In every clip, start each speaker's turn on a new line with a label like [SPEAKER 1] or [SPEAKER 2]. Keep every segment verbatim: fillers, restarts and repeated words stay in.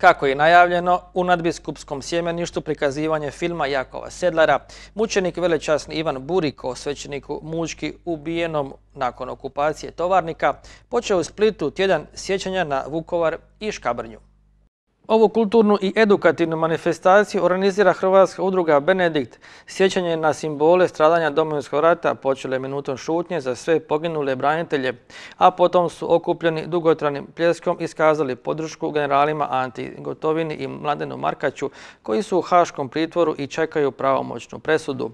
[SPEAKER 1] Kako je najavljeno, u nadbiskupskom sjemeništu prikazivanje filma Jakova Sedlara, mučenik velečasni Ivan Buriko, svećeniku Mučki ubijenom nakon okupacije Tovarnika, počeo u Splitu tjedan sjećanja na Vukovar i Škabrnju. Ovu kulturnu i edukativnu manifestaciju organizira Hrvatska udruga Benedikt. Sjećanje na simbole stradanja Domovinskog rata počelo je minutom šutnje za sve poginule branitelje, a potom su okupljeni dugotrajnim pljeskom iskazali podršku generalima Anti Gotovini i Mladenu Markaću, koji su u haškom pritvoru i čekaju pravomoćnu presudu.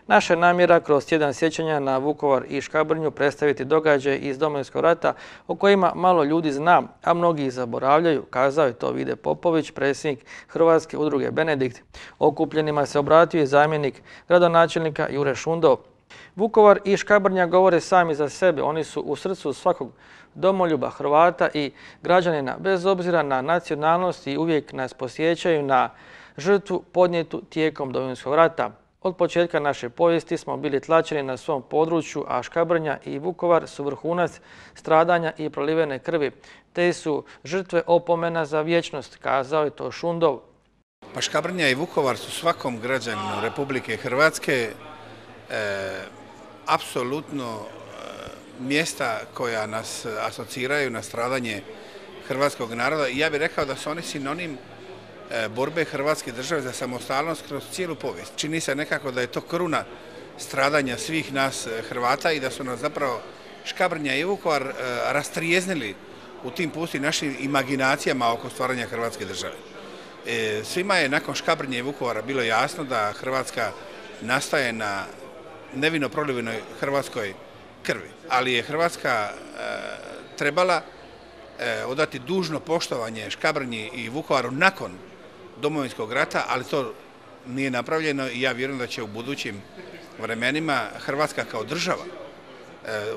[SPEAKER 1] Naša namjera kroz tjedan sjećanja na Vukovar i Škabrnju predstaviti događaje iz Domovinskog rata o kojima malo ljudi zna, a mnogi ih zaboravljaju, kazao je to Vide Popović, predsjednik Hrvatske udruge Benedikt. Okupljenima se obratio i zamjenik gradonačelnika Jure Šundov. Vukovar i Škabrnja govore sami za sebe. Oni su u srcu svakog domoljuba Hrvata i građanina, bez obzira na nacionalnost, i uvijek nas posjećaju na žrtvu podnijetu tijekom Domovinskog rata. Od početka naše povijesti smo bili tlačeni na svom području, a Škabrnja i Vukovar su vrhunac stradanja i prolivene krvi. Te su žrtve opomena za vječnost, kazao je to Šundov.
[SPEAKER 2] Pa Škabrnja i Vukovar su svakom građaninu Republike Hrvatske e, apsolutno e, mjesta koja nas asociraju na stradanje hrvatskog naroda. I ja bih rekao da su oni sinonim borbe Hrvatske države za samostalnost kroz cijelu povijest. Čini se nekako da je to kruna stradanja svih nas Hrvata i da su nas zapravo Škabrnja i Vukovar rastrijeznili u tim pustim našim imaginacijama oko stvaranja Hrvatske države. Svima je nakon Škabrnje i Vukovara bilo jasno da Hrvatska nastaje na nevino prolivenoj hrvatskoj krvi, ali je Hrvatska trebala odati dužno poštovanje Škabrnji i Vukovaru nakon Domovinskog rata, ali to nije napravljeno i ja vjerujem da će u budućim vremenima Hrvatska kao država,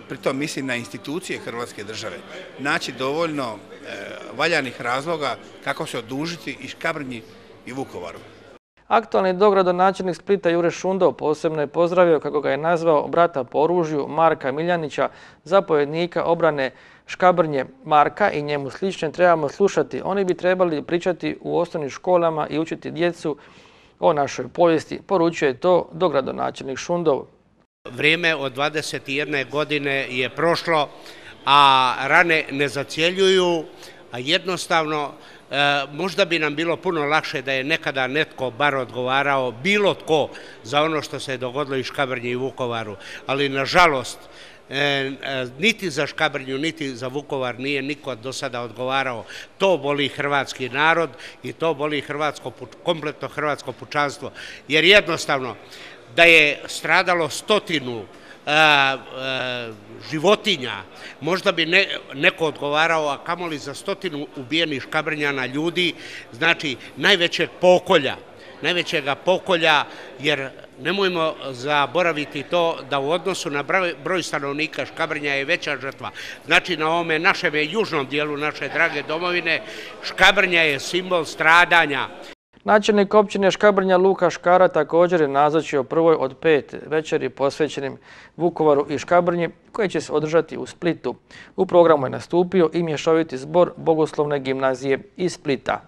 [SPEAKER 2] pritom mislim na institucije Hrvatske države, naći dovoljno valjanih razloga kako se odužiti i Škabrnji i Vukovaru.
[SPEAKER 1] Aktualni dogradonačelnik Splita Jure Šundov posebno je pozdravio, kako ga je nazvao, brata po oružju Marka Miljanića, zapovjednika obrane Škabrnje. Marka i njemu slične trebamo slušati. Oni bi trebali pričati u osnovnim školama i učiti djecu o našoj povijesti, poručuje to dogradonačelnik Šundov.
[SPEAKER 3] Vrijeme od dvadeset jedne godine je prošlo, a rane ne zacjeljuju, a jednostavno možda bi nam bilo puno lakše da je nekada netko bar odgovarao, bilo tko, za ono što se je dogodilo i Škabrnji i Vukovaru, ali nažalost niti za Škabrnju, niti za Vukovar nije niko do sada odgovarao. To boli hrvatski narod i to boli hrvatsko, kompletno hrvatsko pučanstvo, jer jednostavno da je stradalo stotinu A, a, životinja, možda bi ne, neko odgovarao, a kamoli za stotinu ubijenih Škabrnjana ljudi, znači najvećeg pokolja, najvećega pokolja, jer nemojmo zaboraviti to da u odnosu na broj, broj stanovnika Škabrnja je veća žrtva. Znači na ovome našem južnom dijelu naše drage domovine Škabrnja je simbol stradanja.
[SPEAKER 1] Načelnik općine Škabrnja Luka Škara također je nazočio prvoj od pet večeri posvećenim Vukovaru i Škabrnji, koje će se održati u Splitu. U programu je nastupio i mješoviti zbor Bogoslovne gimnazije iz Splita.